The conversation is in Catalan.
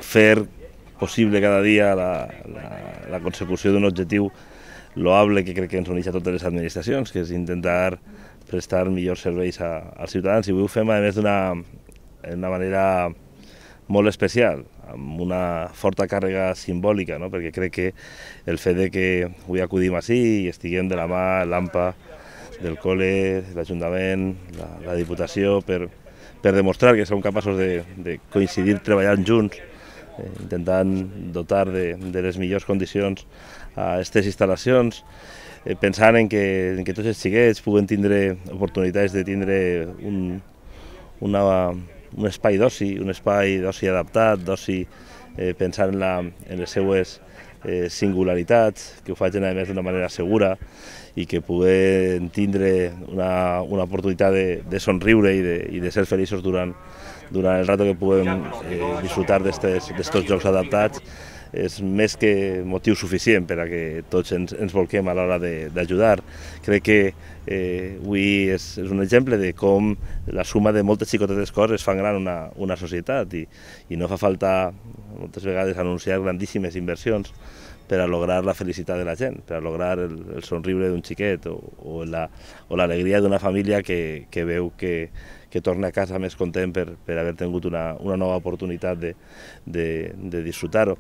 Fer possible cada dia la consecució d'un objectiu loable que crec que ens uneix a totes les administracions, que és intentar prestar millors serveis als ciutadans, i avui ho fem a més d'una manera molt especial, amb una forta càrrega simbòlica, no? Perquè crec que el fet de que avui acudim ací i estiguem de la mà l'AMPA, del col·le, l'Ajuntament, la Diputació, per demostrar que som capaços de coincidir treballant junts, intentant dotar de les millors condicions a aquestes instal·lacions, pensant en que tots els xiquets puguen tindre oportunitats de tindre un espai d'oci, adaptat, d'oci pensant en les seues singularitats, que ho facin a més d'una manera segura i que puguen tindre una oportunitat de somriure i de ser feliços durant el rato que puguem disfrutar d'estos jocs adaptats. És més que motiu suficient per a que tots ens volquem a l'hora d'ajudar. Crec que avui és un exemple de com la suma de moltes xicotetes coses fan gran una societat i no fa falta moltes vegades anunciar grandíssimes inversions per a lograr la felicitat de la gent, per a lograr el somriure d'un xiquet o l'alegria d'una família que veu que torna a casa més content per haver tingut una nova oportunitat de disfrutar-ho.